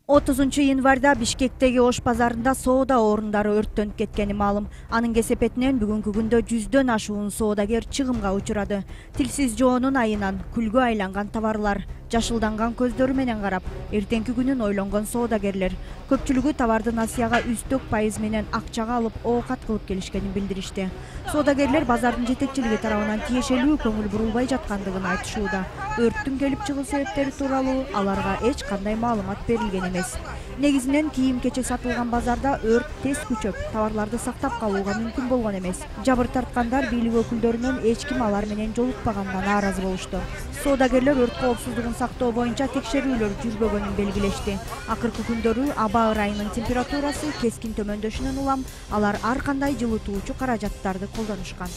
30 январда Бишкектеги Ош базарында соода орундары өрттөнүп кеткени маалым. Анын кесепетинен бүгүнкү күндө 100дөн ашуун соодагер чыгымга учурады. Тилсиз жоонун айынан күлгө айланган товарлар, жашылданган көздөрү менен карап, эртеңки күнүн ойлонгон соодагерлер. Көпчүлүгү товарды насыяга үстөк пайыз менен акчага алып оокат кылып келишкенин билдиришти. Соодагерлер базардын жетекчилиги тарабынан тиешелүү көңүл бурулбай жаткандыгын айтышууда. Өрттүн келип чыгуу себептери тууралуу аларга эч кандай маалымат берилген эмес. Негизинен кийим-кечек сатылган базарда өрт тез күчөп, товарларды сактап калууга мүмкүн болгон эмес. Жабыр тарткандар бийлик өкүлдөрүнөн эч ким алар менен жолукпаганына нааразы болушту. Соодагерлер өрт коопсуздугун сактоо боюнча текшерүүлөр жүрбөгөнүн белгилешти. Акыркы күндөрү аба ырайынын температурасы кескин төмөндөшүнөн улам алар ар кандай жылытуучу каражаттарды колдонушкан.